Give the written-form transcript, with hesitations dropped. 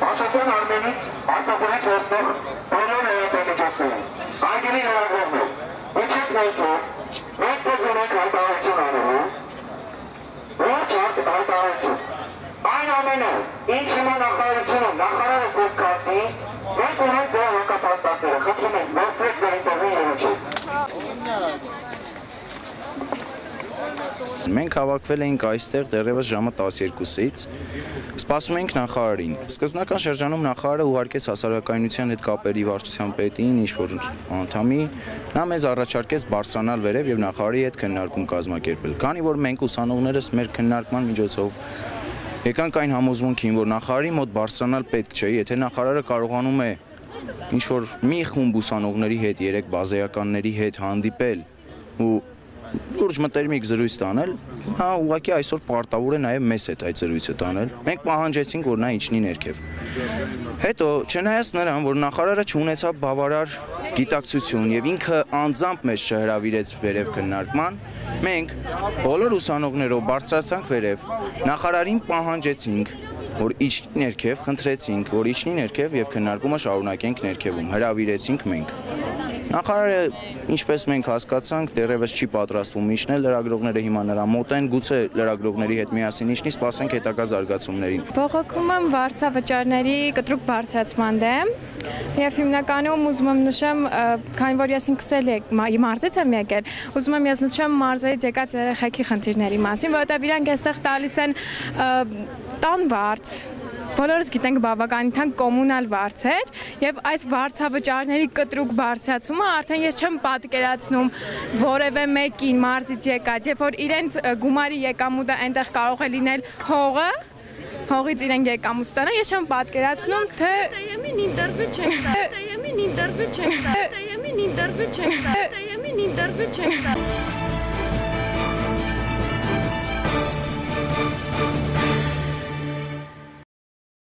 Աշոտյան Արմենից անցազրից ոստող բոլոր հերատամիջոցներին, այգելի հերագրողներ, իջեք ներքով, մենք ձեզ ունենք հայտարարություն անելու, ոչ արդ հայտարարություն։ Այն ամենը, ինչ հիմա նախարարությունը ձեզ կասի, մենք ունենք դրա հակապաստակները, խնդրում ենք, վերցրեք ձեր ինտերվյուն երեջեք։ Մենք հավաքվել էինք այստեղ դեռևս ժամը 12-ից, սպասում էինք նախարարին։ Սկզբնական շրջանում նախարարը ուղարկեց հասարակայնության հետ կապերի վարչության պետին, ինչ-որ անդամի, նա մեզ առաջարկեց բարձրանալ վերև և նախարարի հետ քննարկում կազմակերպել։ Քանի որ մենք ուսանողներս մեր քննարկման միջոցով եկանք այն համոզմունքին, որ նախարարի մոտ բարձրանալ պետք չէ, եթե նախարարը կարողանում է ինչ-որ մի խումբ ուսանողների հետ, 3 բազեականների հետ հանդիպել ու լուրջ մտերմիկ զրույց տանել, հա ուղղակի այսօր պարտավոր է նաև մեզ հետ այդ զրույցը տանել։ Մենք պահանջեցինք, որ նա իջնի ներքև։ Հետո, չնայած նրան, որ նախարարը չունեցավ բավարար գիտակցություն եւ ինքը անձամբ մեզ չհրավիրեց վերև քննարկման, մենք բոլոր ուսանողներով բարձրացանք վերև, նախարարին պահանջեցինք, որ իջնի ներքև, խնդրեցինք, որ իջնի ներքև եւ քննարկումը շարունակենք ներքևում, հրավիրեցինք մենք։ Նախարարը, ինչպես մենք հասկացանք, դեռևս չի պատրաստվում իջնել, լրագրողները հիմա նրա մոտ են, գուցե լրագրողների հետ միասին իջնի, սպասենք հետագա զարգացումներին։ Բողոքում եմ վարձավճարների կտրուկ բարձրացման դեմ եւ հիմնականում ուզում եմ նշեմ, քանի որ ես ինքս էլ մարզից եմ եկել, ուզում եմ ես նշեմ մարզերից եկած երեխեքի խնդիրների մասին, որովհետեւ իրանք այստեղ տալիս են տան վարձ Բոլորս գիտենք բավականին թանկ կոմունալ վարձեր եւ այս վարձավճարների կտրուկ բարձրացումը արդեն ես չեմ պատկերացնում որևէ մեկին մարզից եկած, երբ որ իրենց գումարի եկամուտը այնտեղ կարող է լինել հողը, հողից իրենք եկամուտ ստանան, ես չեմ պատկերացնում, թե ինտերվյու չենք տա։